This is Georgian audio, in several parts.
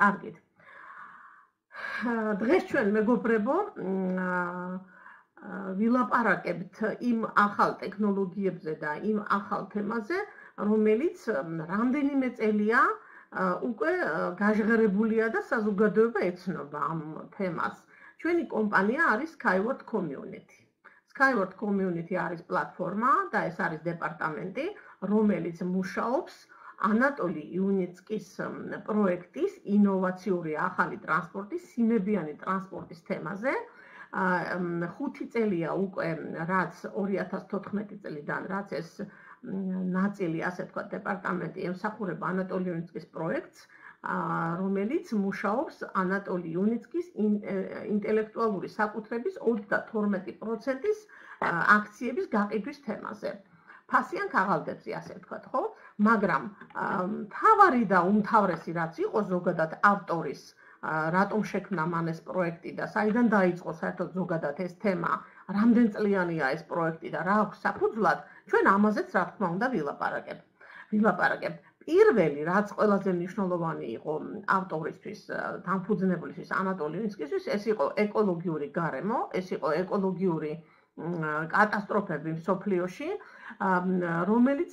კარგით. დღეს ჩვენ მეგობრებო ვილაპარაკებთ იმ ახალ ტექნოლოგიებზე და იმ ახალ თემაზე, რომელიც რამდენიმე წელია უკვე გაჟღერებულია და საზოგადოება ეცნობა ამ თემას. ჩვენი კომპანია არის Skyward Community. Skyward Community არის პლატფორმა და ეს არის დეპარტამენტი, რომელიც მუშაობს ანატოლი იუნიცკის პროექტის ინოვაციური ახალი ტრანსპორტის, სიმებიანი ტრანსპორტის თემაზე. 5 წელია უკვე, რაც 2014 წლიდან, რაც ეს ნაწილი, ასე ვთქვათ, დეპარტამენტი ემსახურება ანატოლი იუნიცკის პროექტს, რომელიც მუშაობს ანატოლი იუნიცკის ინტელექტუალური საკუთრების 32%-ის აქციების გაყიდვის თემაზე. ფასიან ქაღალდებზე, ასე ვთქვათ, ხო? მაგრამ მთავარი და უმთავრესი რაც იყო ზოგადად ავტორის რატომ შექმნა მან ეს პროექტი და საიდან დაიწყო საერთოდ ზოგადად ეს თემა, რამდენ წლიანია ეს პროექტი და რა აქვს საფუძვლად, ჩვენ ამაზეც რა თქმა უნდა ვილაპარაკებთ. პირველი, რაც ყველაზე მნიშვნელოვანი იყო ავტორისთვის, დამფუძნებლისთვის, ანატოლი იუნიცკისთვის, ეს იყო ეკოლოგიური გარემო, ეს იყო ეკოლოგიური კატასტროფები მსოფლიოში, რომელიც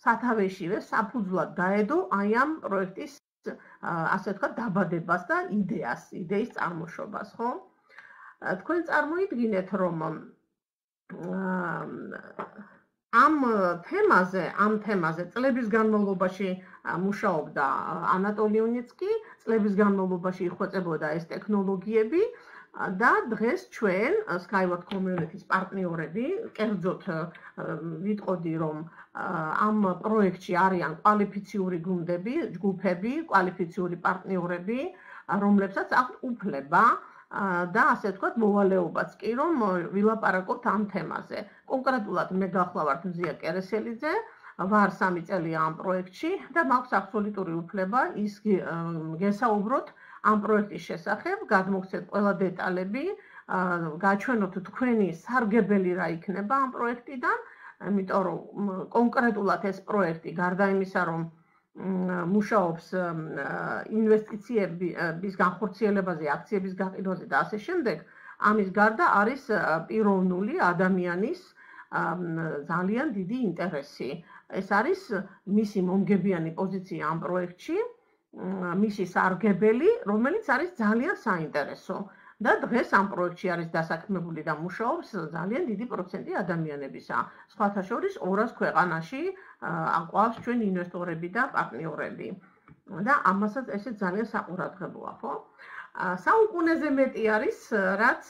სათავეშივე საფუძვლად დაედო აი ამ პროექტის, ასე ვთქვათ, დაბადებას და იდეის წარმოშობას, ხო? თქვენ წარმოიდგინეთ, რომ ამ თემაზე წლების განმავლობაში მუშაობდა ანატოლი იუნიცკი, წლების განმავლობაში იხვეწებოდა ეს ტექნოლოგიები და დღეს ჩვენ Skyward Community-ის პარტნიორები, კერძოდ ვიტყოდი, რომ ამ პროექტში არიან კვალიფიციური გუნდები, ჯგუფები, კვალიფიციური პარტნიორები, რომლებსაც აქვთ უფლება და ასე ვთქვათ, მოვალეობაც კი, რომ ვილაპარაკოთ ამ თემაზე. კონკრეტულად მე გახლავართ მზია კერესელიძე, ვარ 3 წელია ამ პროექტში და მაქვს აბსოლუტური უფლება ის გესაუბროთ ამ პროექტის შესახებ, გადმოგცეთ ყველა დეტალები, გაჩვენოთ თქვენი სარგებელი რა იქნება ამ პროექტიდან, იმიტომ რომ კონკრეტულად ეს პროექტი გარდა იმისა, რომ მუშაობს ინვესტიციების განხორციელებაზე, აქციების გაყიდვაზე და ასე შემდეგ, ამის გარდა არის პიროვნული ადამიანის ძალიან დიდი ინტერესი. ეს არის მისი მომგებიანი პოზიცია ამ პროექტში, მისი სარგებელი, რომელიც არის ძალიან საინტერესო. და დღეს ამ პროექტში არის დასაქმებული და მუშაობს ძალიან დიდი პროცენტი ადამიანებისა. სხვათა შორის 200 ქვეყანაში აყვავს ჩვენ ინვესტორები და პარტნიორები. და ამასაც ესე ძალიან საყურადღებოა, ხო? საუკუნეზე მეტი არის, რაც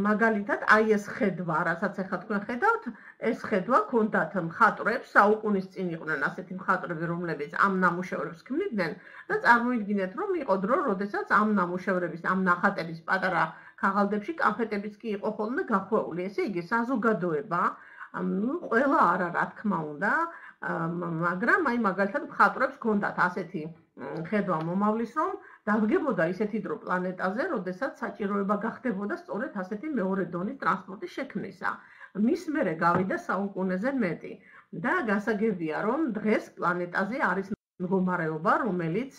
მაგალითად აი ეს ხედვა, რასაც ახლა თქვენ ხედავთ, ეს ხედვა ჰქონდათ მხატვრებს, საუკუნის წინ იყვნენ ასეთი მხატვრები, რომლებიც ამ ნამუშევრებს ქმნიდნენ და წარმოიდგინეთ, რომ იყო დრო, როდესაც ამ ნამუშევრების, ამ ნახატების პატარა ქაღალდებში კანფეტებიც კი იყო ხოლმე გახვეული. ესე იგი, საზოგადოება, ყველა არა, რა თქმა უნდა, მაგრამ აი მაგალითად მხატვრებს ჰქონდათ ასეთი ხედვა მომავლის, რომ დადგებოდა ისეთი დრო პლანეტაზე, როდესაც საჭიროება გახდებოდა სწორედ ასეთი მეორე დონის ტრანსპორტის შექმნისა. მის მერე გავიდა საუკუნეზე მეტი და გასაგებია, რომ დღეს პლანეტაზე არის მდგომარეობა, რომელიც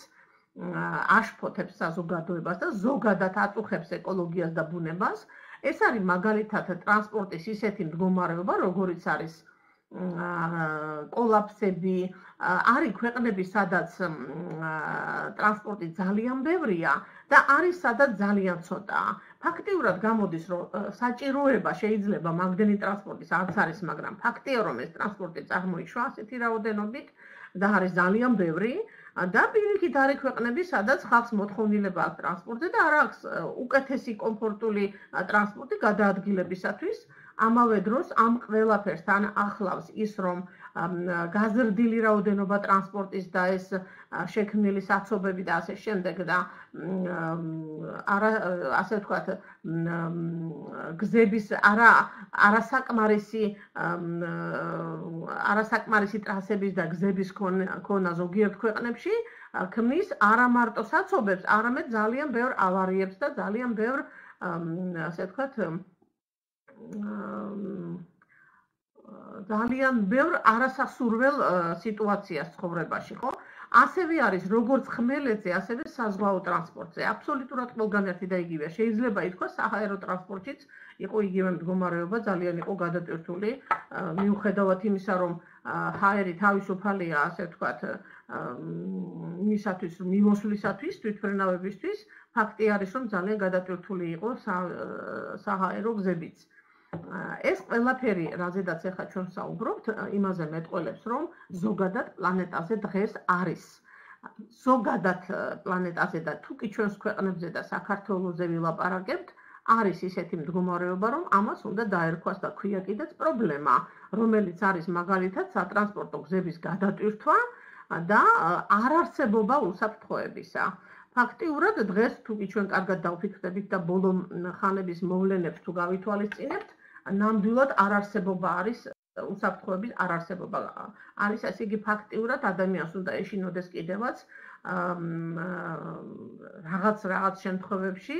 აშფოთებს საზოგადოებას და ზოგადად აწუხებს ეკოლოგიას და ბუნებას. ეს არის მაგალითად ტრანსპორტის ისეთი მდგომარეობა, როგორიც არის კოლაფსები, არის ქვეყნები, სადაც ტრანსპორტი ძალიან ბევრია და არის სადაც ძალიან ცოტაა. ფაქტიურად გამოდის, რომ საჭიროება შეიძლება მაგდენი ტრანსპორტის არც არის, მაგრამ ფაქტია, რომ ეს ტრანსპორტი წარმოიშვა ასეთი რაოდენობით და არის ძალიან ბევრი და პირიქით არის ქვეყნები, სადაც ხალხს მოთხოვნილება აქვს ტრანსპორტზე და არ აქვს უკეთესი კომფორტული ტრანსპორტი გადაადგილებისათვის. ამავე დროს ამ ყველაფერს თან ახლავს ის, რომ გაზრდილი რაოდენობა ტრანსპორტის და ეს შექმნილი საცობები და ასე შემდეგ და ასე ვთქვათ, გზების არასაკმარისი ტრასების და გზების ქონა ზოგიერთ ქვეყნებში ქმნის არა მარტო საცობებს, არამედ ძალიან ბევრ ავარიებს და ძალიან ბევრ, ასე ვთქვათ, ძალიან ბევრ არასასურველ სიტუაციას ცხოვრებაში, ხო? ასევე არის როგორც ხმელეთზე, ასევე საზღვაო ტრანსპორტზე. აბსოლუტურად ყველგან ერთი და იგივეა. შეიძლება ითქვას, საჰაერო ტრანსპორტშიც იყო იგივე მდგომარეობა, ძალიან იყო გადატვირთული, მიუხედავად იმისა, რომ ჰაერი თავისუფალია, ასე ვთქვათ, იმისათვის, მიმოსვლისათვის, თვითმფრინავებისთვის, ფაქტი არის, რომ ძალიან გადატვირთული იყო საჰაერო გზებიც. ეს ყველაფერი, რაზედაც ახლა ჩვენ საუბრობთ, იმაზე მეტყველებს, რომ ზოგადად პლანეტაზე დღეს არის. ზოგადად პლანეტაზე და თუკი ჩვენს ქვეყნებზე და საქართველოზე ვილაპარაკებთ, არის ისეთი მდგომარეობა, რომ ამას უნდა დაერქვას და ქვია კიდეც პრობლემა, რომელიც არის მაგალითად სატრანსპორტო გზების გადატვირთვა და არარსებობა უსაფრთხოებისა. ფაქტიურად დღეს თუკი ჩვენ კარგად დავფიქრდებით და ბოლო ხანების მოვლენებს თუ გავითვალისწინებთ, ნამდვილად არარსებობა არის უსაფრთხოების არარსებობა არის, ასე იგი ფაქტიურად ადამიანს უნდა ეშინოდეს კიდევაც რაღაც შემთხვევებში,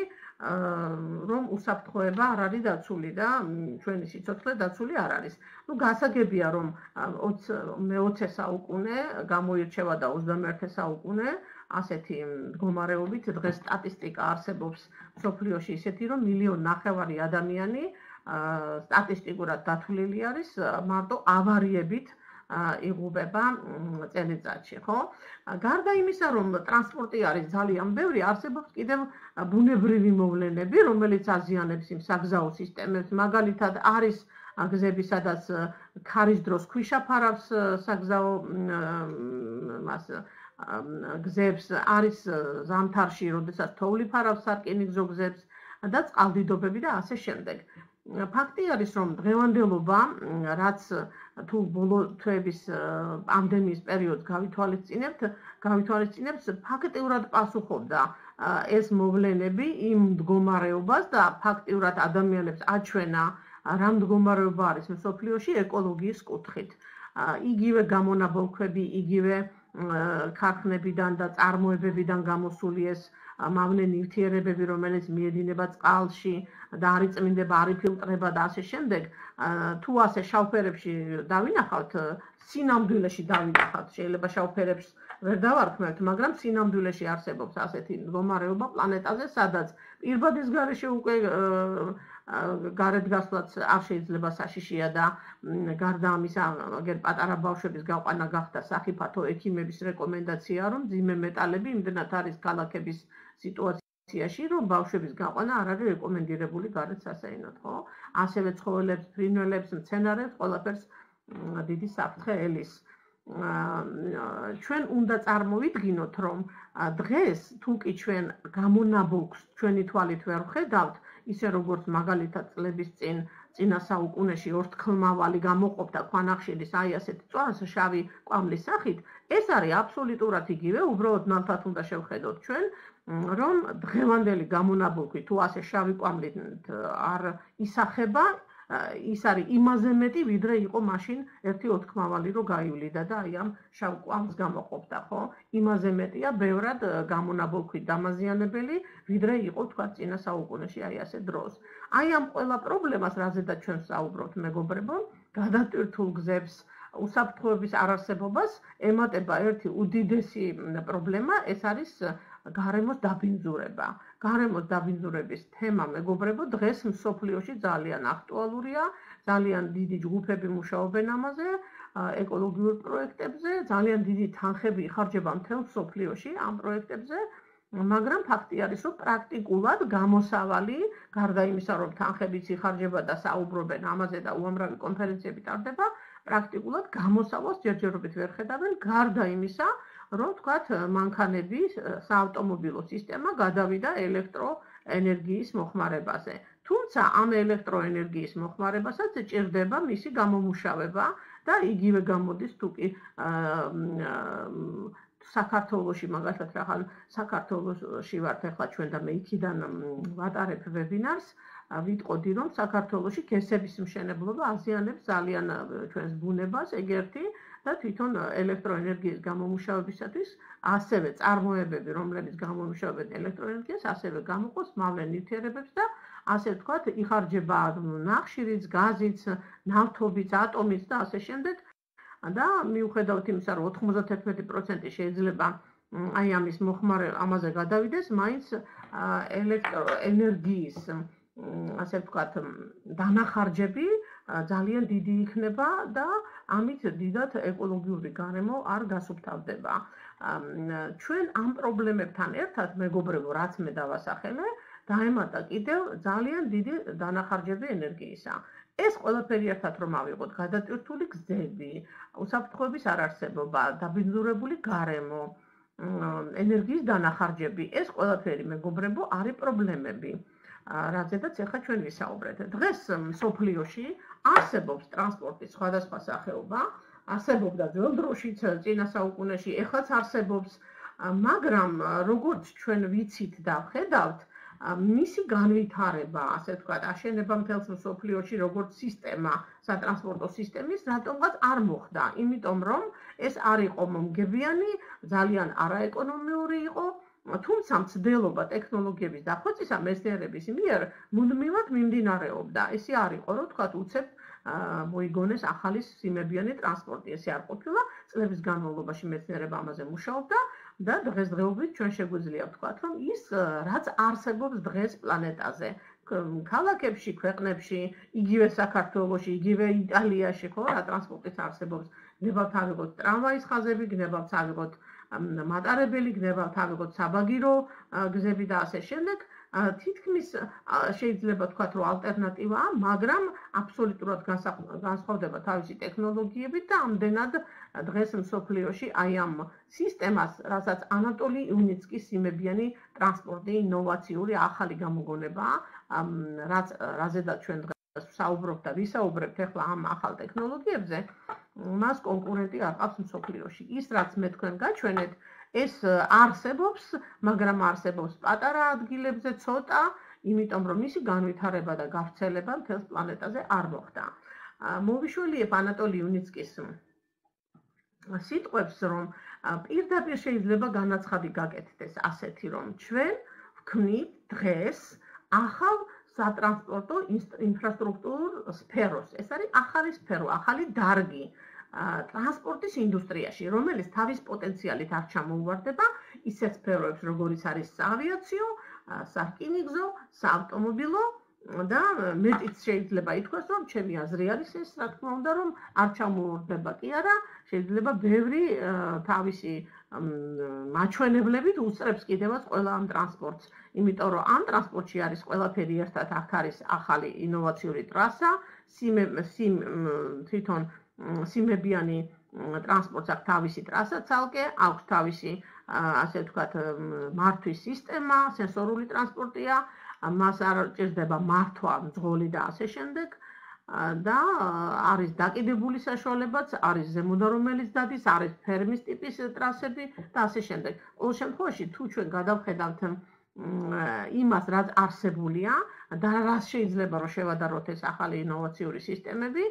რომ უსაფრთხოება არ არის დაცული და ჩვენი სიცოცხლე დაცული არ არის. გასაგებია, რომ მე-20 საუკუნე გამოირჩევა და 21 საუკუნე ასეთი მდგომარეობით დღეს სტატისტიკა არსებობს მსოფლიოში ისეთი, რომ 1,5 მილიონი ადამიანი სტატისტიკურად დათვლილი არის მარტო ავარიებით იღუპება წელიწადში, ხო? გარდა იმისა, რომ ტრანსპორტი არის ძალიან ბევრი, არსებობს კიდევ ბუნებრივი მოვლენები, რომელიც აზიანებს იმ საგზაო სისტემებს. მაგალითად, არის გზები, სადაც ქარის დროს ქვიშა ფარავს საგზაო გზებს, არის ზამთარში, როდესაც თოვლი ფარავს სარკინიგზო გზებს და წყალდიდობები და ასე შემდეგ. ფაქტი არის, რომ დღევანდელობა, რაც თუ ბოლო თვეების პანდემიის პერიოდს გავითვალისწინებთ, ფაქტიურად პასუხობდა ეს მოვლენები იმ მდგომარეობას და ფაქტიურად ადამიანებს აჩვენა რა მდგომარეობა არის მსოფლიოში ეკოლოგიის კუთხით. იგივე გამონაბოლქვები, იგივე ქარხნებიდან და წარმოებებიდან გამოსული ეს მავნე ნივთიერებები, რომელიც მიედინება წყალში და არ იწმინდება, არ იფილტრება და ასე შემდეგ, თუ ასე შავფერებში დავინახავთ, სინამდვილეში დავინახავთ, შეიძლება შავფერებს ვერ დავარქმევთ, მაგრამ სინამდვილეში არსებობს ასეთი მდგომარეობა პლანეტაზე, სადაც პირბადის გარეშე უკვე გარეთ გასვლაც არ შეიძლება საშიშია და გარდა ამისა, აგერ პატარა ბავშვების გაყვანა გახდა სახიფათო ექიმების რეკომენდაცია, რომ მძიმე მეტალები იმდენად არის ქალაქების სიტუაციაში, რომ ბავშვების გაყვანა არ არის რეკომენდირებული გარეთ სასეირნოდ, ხო? ასევე ცხოველებს, ფრინველებს, მცენარებს, ყველაფერს დიდი საფრთხე ელის. ჩვენ უნდა წარმოვიდგინოთ, რომ დღეს თუკი ჩვენ გამონაბოლქვს ჩვენი თვალით ვერ ვხედავთ, ისე როგორც მაგალითად წლების წინა საუკუნეში ორთქლმავალი გამოყოფდა ქვანახშირის აი ასეთი წვას შავი კვამლის სახით, ეს არის აბსოლუტურად იგივე, უბრალოდ ნათლად უნდა შევხედოთ ჩვენ, რომ დღევანდელი გამონაბოლქვი თუ ასე შავი კვამლით არ ისახება, ის არის იმაზე მეტი, ვიდრე იყო მაშინ ერთი ორთქლმავალი რო გაივლიდა და აი ამ შავ კვამს გამოყოფდა, ხო? იმაზე მეტია ბევრად გამონაბოლქვით დამაზიანებელი, ვიდრე იყო თქვა წინა საუკუნეში აი ასე დროს. აი ამ ყველა პრობლემას, რაზედაც ჩვენ საუბრობთ, მეგობრებო, გადატვირთულ გზებს, უსაფრთხოების არარსებობას ემატება ერთი უდიდესი პრობლემა, ეს არის გარემოს დაბინძურება. გარემოს დაბინძურების თემა, მეგობრებო, დღეს მსოფლიოში ძალიან აქტუალურია, ძალიან დიდი ჯგუფები მუშაობენ ამაზე, ეკოლოგიურ პროექტებზე, ძალიან დიდი თანხები იხარჯება მთელ მსოფლიოში ამ პროექტებზე, მაგრამ ფაქტი არის, რომ პრაქტიკულად გამოსავალი, გარდა იმისა, რომ თანხებიც იხარჯება და საუბრობენ ამაზე და უამრავი კონფერენციები ტარდება, პრაქტიკულად გამოსავალს ჯერჯერობით ვერ ხედავენ, გარდა იმისა, რომ თქვათ მანქანები, საავტომობილო სისტემა გადავიდა ელექტროენერგიის მოხმარებაზე. თუმცა ამ ელექტროენერგიის მოხმარებასაც ჭირდება მისი გამომუშავება და იგივე გამოდის თუკი საქართველოში მაგალითად რახან საქართველოში ვართ ახლა ჩვენ და მე იქიდან ვატარებ ვებინარს ვიტყოდი რომ საქართველოში გესების მშენებლობა აზიანებს ძალიან ჩვენს ბუნებას ეგ ერთი და თვითონ ელექტროენერგიის გამომუშავებისათვის ასევე წარმოებები რომლებიც გამომუშავებენ ელექტროენერგიას ასევე გამოყოს მავნე ნივთიერებებს და ასე ვთქვათ იხარჯება ნახშირიც, გაზიც, ნავთობიც, ატომიც და ასე შემდეგ და მიუხედავად იმისა რომ 91% შეიძლება აი ამის მოხმარე ამაზე გადავიდეს, მაინც ელექტროენერგიის ასე ვთქვათ დანახარჯები ძალიან დიდი იქნება და ამით დიდად ეკოლოგიური გარემო არ გასუფთავდება. ჩვენ ამ პრობლემებთან ერთად მეგობრებო, რაც მე დავასახელე, დაემატა კიდევ ძალიან დიდი დანახარჯები ენერგიისა. ეს ყველაფერი ერთად რომ ავიღოთ, გადატვირთული გზები, უსაფრთხოების არარსებობა, დაბინძურებული გარემო, ენერგიის დანახარჯები, ეს ყველაფერი მეგობრებო არის პრობლემები. რაზედაც ახლა ჩვენ ვისაუბრეთ. დღეს მსოფლიოში არსებობს ტრანსპორტის სხვადასხვა სახეობა, არსებობდა ძველ დროშიც, წინა საუკუნეში, ეხლაც არსებობს, მაგრამ როგორც ჩვენ ვიცით და ვხედავთ, მისი განვითარება, ასე ვთქვათ, აშენება მთელს მსოფლიოში როგორც სისტემა, სატრანსპორტო სისტემის, რატომღაც არ მოხდა, იმიტომ რომ ეს არ იყო მომგებიანი, ძალიან არაეკონომიური იყო, თუმცა მცდელობა ტექნოლოგიების დახვეწისა მეცნიერების მიერ მუდმივად მიმდინარეობდა. ესე არ იყო, რომ თქვათ უცებ მოიგონეს ახალი სიმებიანი ტრანსპორტი. ესე არ ყოფილა, წლების განმავლობაში მეცნიერება ამაზე მუშაობდა და დღესდღეობით ჩვენ შეგვიძლია ვთქვათ, რომ ის რაც არსებობს დღეს პლანეტაზე, ქალაქებში, ქვეყნებში, იგივე საქართველოში, იგივე იტალიაში, ხო, რა ტრანსპორტიც არსებობს, გნებავთ ავიღოთ ტრამვაის ხაზები, გნებავთ ავიღოთ მატარებელი, გნებავთ ავიღოთ საბაგირო გზები და ასე შემდეგ. თითქმის შეიძლება ვთქვათ, რომ ალტერნატივაა, მაგრამ აბსოლუტურად განსხვავდება თავისი ტექნოლოგიებით და ამდენად დღეს მსოფლიოში აი ამ სისტემას, რასაც ანატოლი იუნიცკის სიმებიანი ტრანსპორტი ინოვაციური ახალი გამოგონებაა, რაზედაც ჩვენ დღეს ვსაუბრობთ და ვისაუბრებთ ახლა ამ ახალ ტექნოლოგიებზე, მას კონკურენტი არ ყავს მსოფლიოში. ის რაც მე თქვენ გაჩვენეთ, ეს არსებობს, მაგრამ არსებობს პატარა ადგილებზე ცოტა, იმიტომ რომ მისი განვითარება და გავრცელება მთელს პლანეტაზე არ მოხდა. მოვიშველიებ ანატოლი იუნიცკის სიტყვებს, რომ პირდაპირ შეიძლება განაცხადი გაკეთდეს ასეთი, რომ ჩვენ ვქმნით დღეს ახალ სატრანსპორტო ინფრასტრუქტურულ სფეროს. ეს არის ახალი სფერო, ახალი დარგი ტრანსპორტის ინდუსტრიაში, რომელიც თავის პოტენციალით არ ჩამოუვარდება ისეთ სფეროებს, როგორიც არის საავიაციო, სარკინიგზო, საავტომობილო და მეტიც შეიძლება ითქვას, რომ ჩემი აზრი არის ეს, რა თქმა უნდა, რომ არ ჩამოუვარდება კი არა, შეიძლება ბევრი თავისი მაჩვენებლებით უსწრებს კიდევაც ყველა ამ ტრანსპორტს, იმიტომ რომ ამ ტრანსპორტში არის ყველაფერი ერთად, აქ არის ახალი ინოვაციური ტრასა, თვითონ სიმებიანი ტრანსპორტს აქვს თავისი ტრასა ცალკე, აქვს თავისი ასე ვთქვათ მართვის სისტემა, სენსორული ტრანსპორტია, მას არ ჭირდება მართვა, მძღოლი და ასე შემდეგ და არის დაკიდებული საშუალებაც, არის ზემოდან რომელიც დადის, არის ფერმის ტიპის ტრასები და ასე შემდეგ. ყოველ შემთხვევაში თუ ჩვენ გადავხედავთ იმას, რაც არსებულია და რაც შეიძლება რომ შევადაროთ ეს ახალი ინოვაციური სისტემები,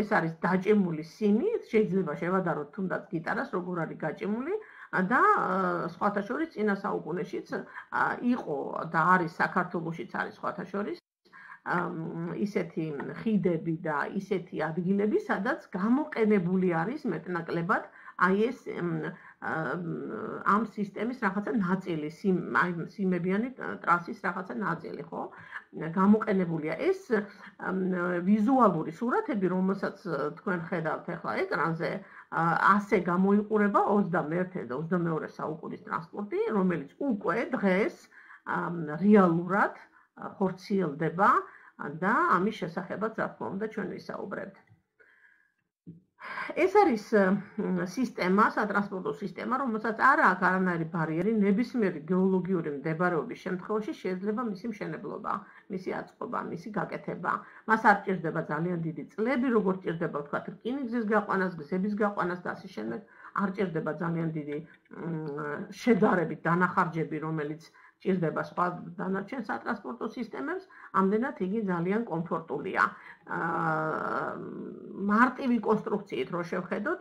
ეს არის დაჭემული სიმი, შეიძლება შევადაროთ თუნდაც გიტარას, როგორ არის გაჭემული და სხვათა შორის წინა საუკუნეშიც იყო და არის საქართველოშიც არის სხვათა შორის ისეთი ხიდები და ისეთი ადგილები, სადაც გამოყენებული არის მეტნაკლებად აი ეს ამ სისტემის რაღაცა ნაწილი, სიმებიანი ტრასის რაღაცა ნაწილი, ხო? გამოყენებულია ეს ვიზუალური სურათები, რომელსაც თქვენ ხედავთ ახლა ეკრანზე, ასე გამოიყურება 21 და 22 საუკუნის ტრანსპორტი, რომელიც უკვე დღეს რეალურად ხორციელდება და ამის შესახებაც რა თქმა უნდა ჩვენ ვისაუბრებთ. ეს არის სისტემა, სატრანსპორტო სისტემა, რომელსაც არ აქვს არანაირი ბარიერი, ნებისმიერი გეოლოგიური მდებარეობის შემთხვევაში შეიძლება მისი მშენებლობა, მისი აწყობა, მისი გაკეთება. მას არ ჭირდება ძალიან დიდი წლები, როგორც ჭირდება, ვთქვათ, რკინიგზის გაყვანას, გზების გაყვანას და ასე შემდეგ. არ ჭირდება ძალიან დიდი შედარებით დანახარჯები, რომელიც ჭირდება სხვა დანარჩენ სატრანსპორტო სისტემებს, ამდენად იგი ძალიან კომფორტულია. მარტივი კონსტრუქციით რო შევხედოთ,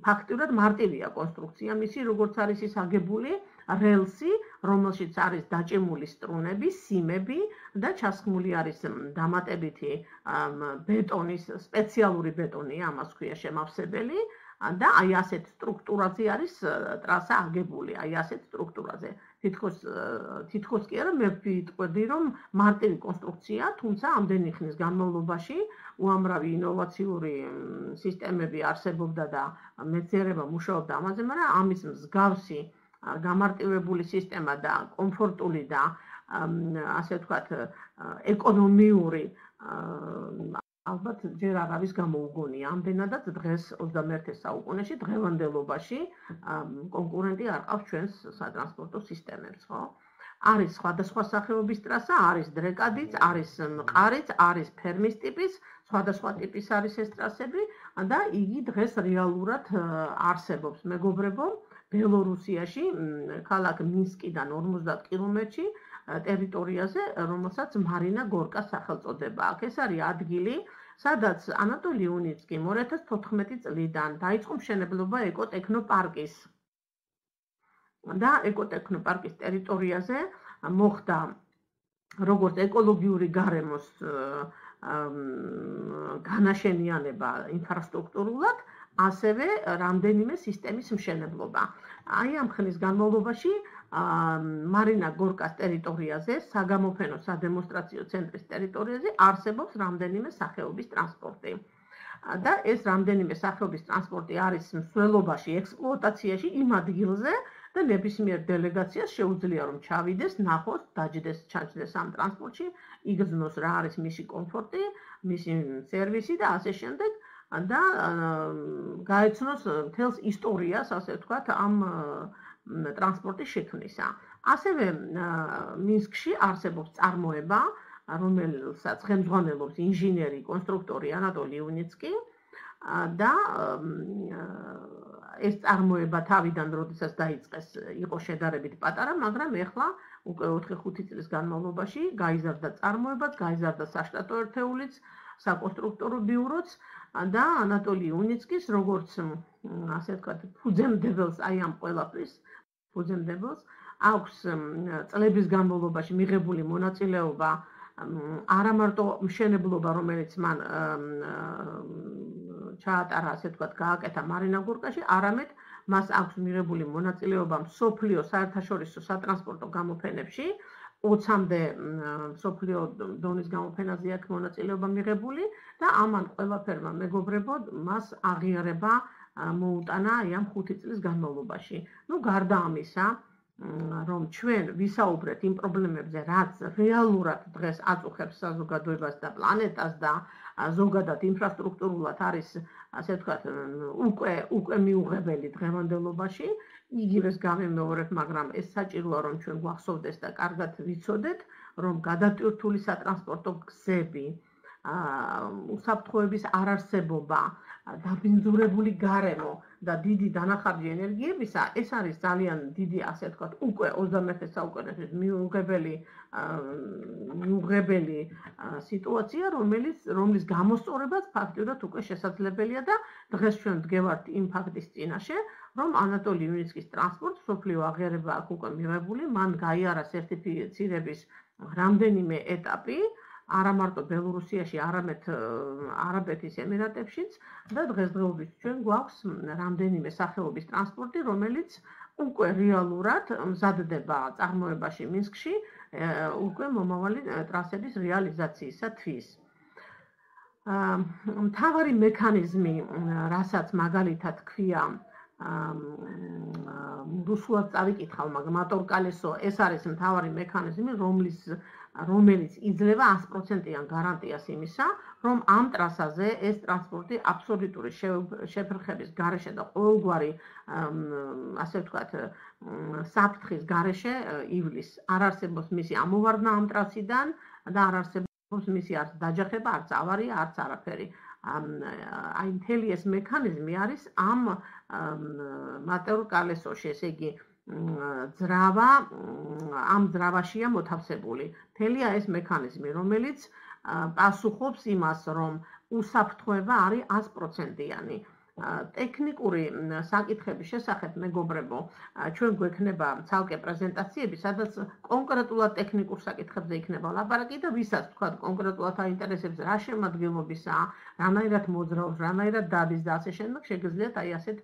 ფაქტიურად მარტივია კონსტრუქცია მისი, როგორც არის ის აგებული, რელსი, რომელშიც არის დაჭიმული სტრუნები, სიმები და ჩასხმული არის დამატებითი ბეტონის, სპეციალური ბეტონია, ამას ქვია შემავსებელი და აი ასეთ სტრუქტურაზე არის ტრასა აგებული, აი ასეთ სტრუქტურაზე. თითქოს კი არა, მე ვიტყვი, რომ მარტივი კონსტრუქცია, თუმცა ამდენი ხნის განმავლობაში უამრავი ინოვაციური სისტემები არსებობდა და მეცნიერება მუშაობდა ამაზე, მაგრამ ამის მსგავსი გამარტივებული სისტემა და კომფორტული და ასე ვთქვათ, ეკონომიური ალბათ ჯერ არ არის გამოუგონია. ამდენადაც დღეს 21 საუკუნეში დღევანდელობაში კონკურენტი არ ყავს ჩვენს სატრანსპორტო სისტემებს, ხო? არის სხვადასხვა სახეობის ტრასა, არის დრეკადიც, არის მყარიც, არის ფერმის ტიპის, სხვადასხვა ტიპის არის ეს ტრასები და იგი დღეს რეალურად არსებობს. მეგობრებო, ბელორუსიაში, ქალაქ მინსკიდან 50 კილომეტრში ტერიტორიაზე, რომელსაც მარინა გორკას სახელწოდება აქვს. ეს არის ადგილი, სადაც ანატოლი უნიცკი 2014 წლიდან დაიწყო მშენებლობა ეკოტექნოპარკის. და ეკოტექნოპარკის ტერიტორიაზე მოხდა როგორც ეკოლოგიური გარემოს განაშენიანება ინფრასტრუქტურულად, ასევე რამდენიმე სისტემის მშენებლობა. აი ამ ხნის განმავლობაში მარინა გორკას ტერიტორიაზე, საგამოფენო სადემონსტრაციო ცენტრის ტერიტორიაზე არსებობს რამდენიმე სახეობის ტრანსპორტი. და ეს რამდენიმე სახეობის ტრანსპორტი არის მსვლელობაში, ექსპლუატაციაში იმ ადგილზე და ნებისმიერ დელეგაციას შეუძლია რომ ჩავიდეს, ნახოს, დაჯდეს, ჩაჯდეს ამ ტრანსპორტში, იგრძნოს რა არის მისი კომფორტი, მისი სერვისი და ასე შემდეგ. და გაეცნოს მთელს ისტორიას, ასე ვთქვათ, ამ ტრანსპორტის შექმნისა. ასევე მინსკში არსებობს წარმოება, რომელსაც ხელმძღვანელობს ინჟინერი, კონსტრუქტორი ანატოლი უნიცკი და ეს წარმოება თავიდან, როდესაც დაიწყეს, იყო შედარებით პატარა, მაგრამ ეხლა უკვე 4-5 წლის განმავლობაში გაიზარდა წარმოებაც, გაიზარდა საშტატო ერთეულიც, საკონსტრუქტორო ბიუროც და ანატოლი უნიცკის, როგორც ასე ვთქვათ, ფუძემდებელს აი ამ ყველაფრის, ფუძემდებელს აქვს წლების განმავლობაში მიღებული მონაწილეობა არა მარტო მშენებლობა, რომელიც მან ჩაატარა, ასე ვთქვათ, გააკეთა მარინა გორკაში, არამედ მას აქვს მიღებული მონაწილეობა მსოფლიო საერთაშორისო სატრანსპორტო გამოფენებში, 20-მდე მსოფლიო დონის გამოფენაზე აქვს მონაწილეობა მიღებული და ამან ყველაფერმა მეგობრებო მას აღიარება მოუტანა აი ამ 5 წლის განმავლობაში. ნუ გარდა ამისა, რომ ჩვენ ვისაუბრეთ იმ პრობლემებზე, რაც რეალურად დღეს აწუხებს საზოგადოებას და პლანეტას და ზოგადად ინფრასტრუქტურულად არის, ასე ვთქვათ, უკვე მიუღებელი დღევანდელობაში, იგივეს გამიმეორებ, მაგრამ ეს საჭიროა, რომ ჩვენ გვახსოვდეს და კარგად ვიცოდეთ, რომ გადატვირთული სატრანსპორტო გზები, უსაფრთხოების არარსებობა, დაბინძურებული გარემო და დიდი დანახარჯი ენერგიებისა, ეს არის ძალიან დიდი, ასე ვთქვათ, უკვე 21 საუკუნეში მიუღებელი სიტუაცია, რომლის გამოსწორებაც ფაქტიურად უკვე შესაძლებელია და დღეს ჩვენ ვდგევართ იმ ფაქტის წინაშე, რომ ანატოლი უნიცკის ტრანსპორტს მსოფლიო აღიარება აქვს უკვე მიღებული, მან გაიარა სერტიფიცირების რამდენიმე ეტაპი, არა მარტო ბელორუსიაში, არამედ არაბეთის ემირატებშიც და დღესდღეობით ჩვენ გვაქვს რამდენიმე სახეობის ტრანსპორტი, რომელიც უკვე რეალურად მზადდება წარმოებაში მინსკში, უკვე მომავალი ტრასების რეალიზაციისათვის. მთავარი მექანიზმი, რასაც მაგალითად ქვია, რუსულად წავიკითხავ, მაგრამ მოტორკალესო, ეს არის მთავარი მექანიზმი, რომელიც იძლევა 100%-იან გარანტიას იმისა, რომ ამ ტრასაზე ეს ტრანსპორტი აბსოლუტური შეფერხების გარეშე და ყოველგვარი, ასე ვთქვათ, საფრთხის გარეშე ივლის. არ არსებობს მისი ამოვარდნა ამ ტრასიდან და არ არსებობს მისი არც დაჯახება, არც ავარია, არც არაფერი. აი მთელი ეს მექანიზმი არის ამ მატერკალესოში, ესე იგი ძრავა ამ ძრავაშია მოთავსებული. მთელია ეს მექანიზმი, რომელიც პასუხობს იმას, რომ უსაფრთხოება არის 100%-იანი. ტექნიკური საკითხების შესახებ მეგობრებო, ჩვენ გვექნება ცალკე პრეზენტაციები, სადაც კონკრეტულად ტექნიკურ საკითხებზე იქნება ლაპარაკი და ვისაც თქვა კონკრეტულად აინტერესებს რა შემადგენლობისაა, რანაირად მოძრაობს, რანაირად დადის და ასე შემდეგ, შეგიძლიათ აი ასეთ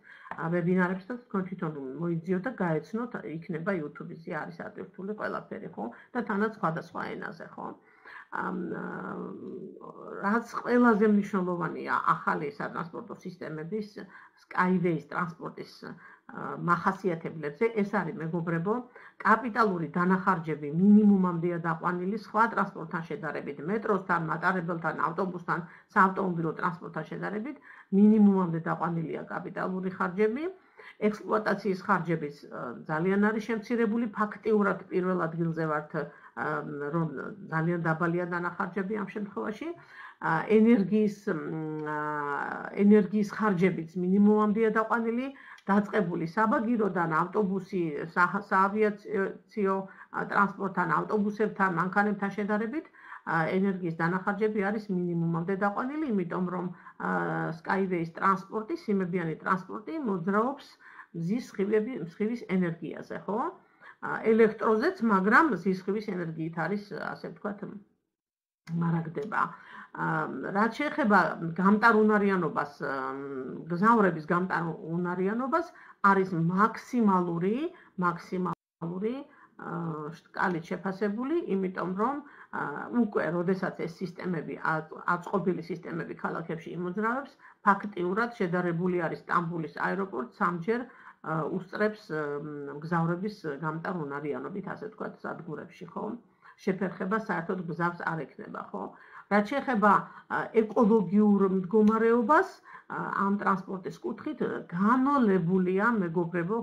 ვებინარებსაც თქვენ თვითონ მოიძიოთ და გაეცნოთ, იქნება YouTube-ზე არის ატვირთული ყველაფერი, ხო? და თანაც სხვადასხვა ენაზე, ხო? რაც ყველაზე მნიშვნელოვანია ახალი სატრანსპორტო სისტემების Skyway-ის ტრანსპორტის მახასიათებლებზე, ეს არის მეგობრებო, კაპიტალური დანახარჯები მინიმუმამდეა დაყვანილი სხვა ტრანსპორტთან შედარებით, მეტროსთან, მატარებელთან, ავტობუსთან, საავტომობილო ტრანსპორტთან შედარებით, მინიმუმამდე დაყვანილია კაპიტალური ხარჯები. ექსპლუატაციის ხარჯებიც ძალიან არის შემცირებული, ფაქტიურად პირველ ადგილზე ვართ, რომ ძალიან დაბალია დანახარჯები ამ შემთხვევაში. ენერგიის ხარჯებიც მინიმუმამდეა დაყვანილი, დაწყებული საბაგიროდან, ავტობუსი, საავიაციო ტრანსპორტთან, ავტობუსებთან, მანქანებთან შედარებით, ენერგიის დანახარჯები არის მინიმუმამდე დაყვანილი, იმიტომ რომ Skyway-ის ტრანსპორტი, სიმებიანი ტრანსპორტი მოძრაობს მზის სხივის ენერგიაზე, ხო? ელექტროზეც, მაგრამ მზის სხივის ენერგიით არის, ასე ვთქვათ, მარაგდება. რაც შეეხება გამტარუნარიანობას, გზავრების გამტარუნარიანობას, არის მაქსიმალური შკალით შეფასებული, იმიტომ რომ უკვე როდესაც ეს სისტემები, აწყობილი სისტემები ქალაქებში იმოძრავებს, ფაქტიურად შედარებული არის სტამბოლის აეროპორტ სამჯერ უსწრებს გზავრების გამტარუნარიანობით, ასე ვთქვათ, სადგურებში, ხო? შეფერხება საერთოდ გზავს არ ექნება, ხო? რაც შეეხება ეკოლოგიურ მდგომარეობას, ამ ტრანსპორტის კუთხით განოლებულია, მეგობრებო,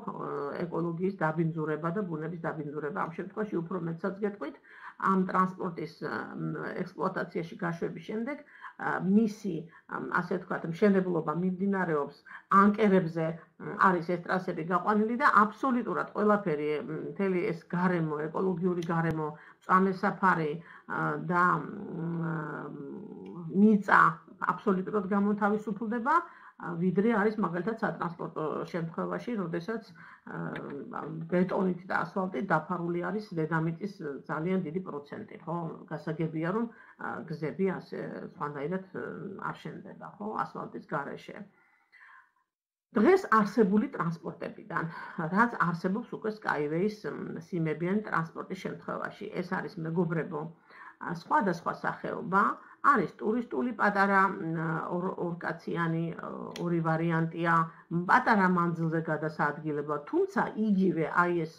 ეკოლოგიის დაბინძურება და ბუნების დაბინძურება. ამ შემთხვევაში უფრო მეტსაც გეტყვით, ამ ტრანსპორტის ექსპლუატაციაში გაშვების შემდეგ მისი, ასე ვთქვათ, მშენებლობა მიმდინარეობს ანკერებზე, არის ეს ტრასები გაყვანილი და აბსოლუტურად ყველაფერი, მთელი ეს გარემო, ეკოლოგიური გარემო, მწვანე საფარი და მიწა აბსოლუტურად გამოთავისუფლდება, ვიდრე არის მაგალითად სატრანსპორტო შემთხვევაში, როდესაც ბეტონით და ასფალტით დაფარული არის დედამიწის ძალიან დიდი პროცენტი, ხო? გასაგებია, რომ გზები ასე სხვანაირად არ შენდება, ხო? ასფალტის გარეშე. დღეს არსებული ტრანსპორტებიდან, რაც არსებობს უკვე Skyway-ის სიმებიანი ტრანსპორტის შემთხვევაში, ეს არის მეგობრებო, სხვადასხვა სახეობა, არის ტურისტული პატარა ორკაციანი, ორი ვარიანტია, პატარა მანძილზე გადასაადგილებლად, თუმცა იგივე აი ეს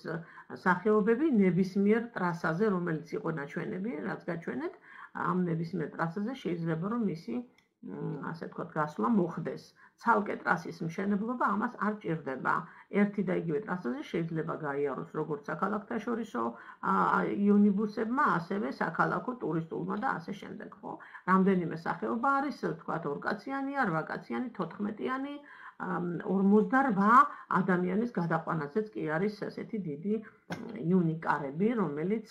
სახეობები ნებისმიერ ტრასაზე, რომელიც იყო ნაჩვენები, რაც გაჩვენეთ, ამ ნებისმიერ ტრასაზე შეიძლება რომ მისი, ასე ვთქვათ, გასვლა მოხდეს. ცალკე ტრასის მშენებლობა ამას არ ჭირდება. ერთი და იგივე ტრასაზე შეიძლება გაიაროს როგორც საქალაქთაშორისო იონიბუსებმა, ასევე საქალაქო ტურისტულმა და ასე შემდეგ, ხო? რამდენიმე სახეობა არის, ვთქვათ, ორკაციანია, 8კაციანი, 14-იანი, 48 ადამიანის გადაყვანაზეც კი არის ესეთი დიდი იუნიკარები, რომელიც